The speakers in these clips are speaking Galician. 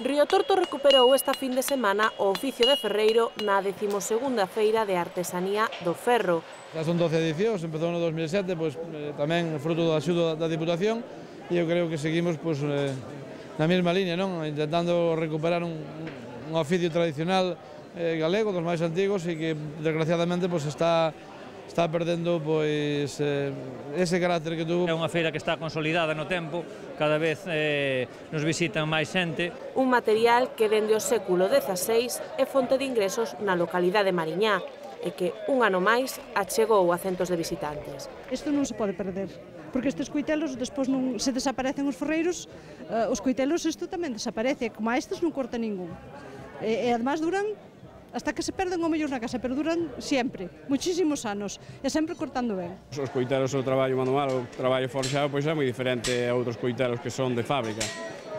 Río Torto recuperou esta fin de semana o oficio de ferreiro na 12ª Feira de Artesanía do Ferro. Já son 12 edicións, empezou no 2007, tamén fruto da axuda da Diputación, e eu creo que seguimos na mesma línea, intentando recuperar un oficio tradicional galego, dos máis antigos, e que desgraciadamente está perdendo ese carácter que tuvo. É unha feira que está consolidada no tempo, cada vez nos visitan máis xente. Un material que dende o século XVI é fonte de ingresos na localidade de Mariñá e que un ano máis achegou a centos de visitantes. Isto non se pode perder, porque estes coitelos, despois non se desaparecen os ferreiros, os coitelos isto tamén desaparece, como a estes non corta ningún. E además duran hasta que se perden o mellor na casa, pero duran sempre, muchísimos anos, e sempre cortando ben. Os coitelos, o traballo manual, o traballo forxado, pois é moi diferente a outros coitelos que son de fábrica.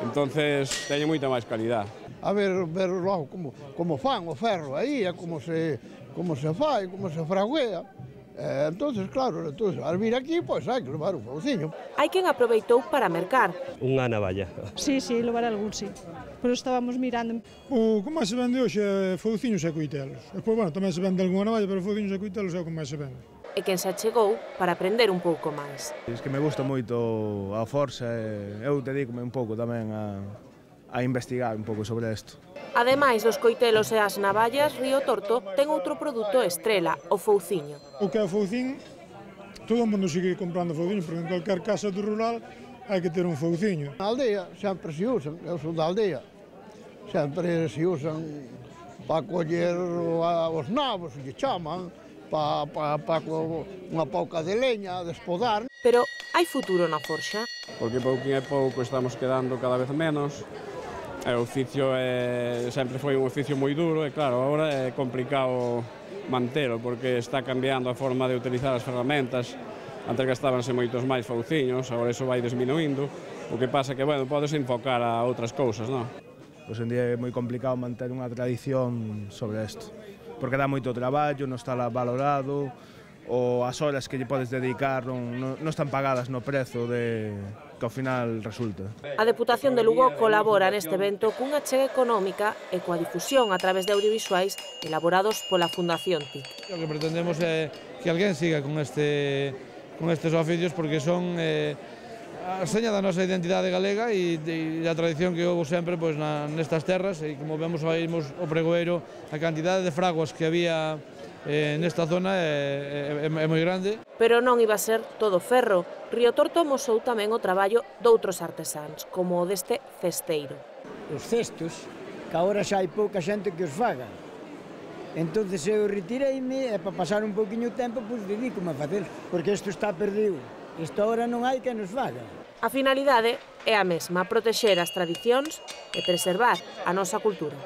Entonces, teñen moita máis calidad. A ver logo como fan o ferro aí, como se fai, como se fraguea. Entonces, claro, al vir aquí, pois hai que levar un fauciño. Hai quen aproveitou para mercar. Unha navalla. Sí, levar algún, sí. Pero estábamos mirando. O que máis se vende hoxe é fauciños e coitelos. Despois, tamén se vende algunha navalla, pero fauciños e coitelos é o que máis se vende. E quen se achegou para aprender un pouco máis. É que me gusta moito a forza e eu dedícome un pouco tamén a investigar un pouco sobre isto. Ademais dos coitelos e as navallas, Río Torto ten outro produto estrela, o fauciño. O que é o fauciño, todo o mundo sigue comprando fauciño, porque en calquer casa do rural hai que ter un fauciño. Na aldea sempre se usan, eu sou da aldea, sempre se usan para coller os nabos, lle chaman, para unha pouca de leña, de espodar. Pero hai futuro na forxa? Porque pouquinho a pouco estamos quedando cada vez menos. O oficio sempre foi un oficio moi duro e claro, agora é complicado mantelo porque está cambiando a forma de utilizar as ferramentas. Antes gastábanse moitos máis fauciños, agora iso vai disminuindo. O que pasa que, podes enfocar a outras cousas, non? Hoxe en día é moi complicado manter unha tradición sobre isto, porque dá moito traballo, non está valorado, ou as horas que lle podes dedicar non están pagadas no prezo que ao final resulta. A Deputación de Lugo colabora neste evento cunha achega económica e coa difusión a través de audiovisuais elaborados pola Fundación TIC. O que pretendemos é que alguén siga con estes oficios porque son a seña da nosa identidade galega e a tradición que houve sempre nestas terras, e como vemos aí o pregoeiro, a cantidade de fraguas que había nesta zona é moi grande. Pero non iba a ser todo ferro. Río Torto amosou tamén o traballo doutros artesáns, como o deste cesteiro. Os cestos, que agora xa hai pouca xente que os faga. Entón eu retireime e para pasar un poquinho de tempo, dedícome a facer, porque isto está perdido. Isto agora non hai que nos faga. A finalidade é a mesma, protexer as tradicións e preservar a nosa cultura.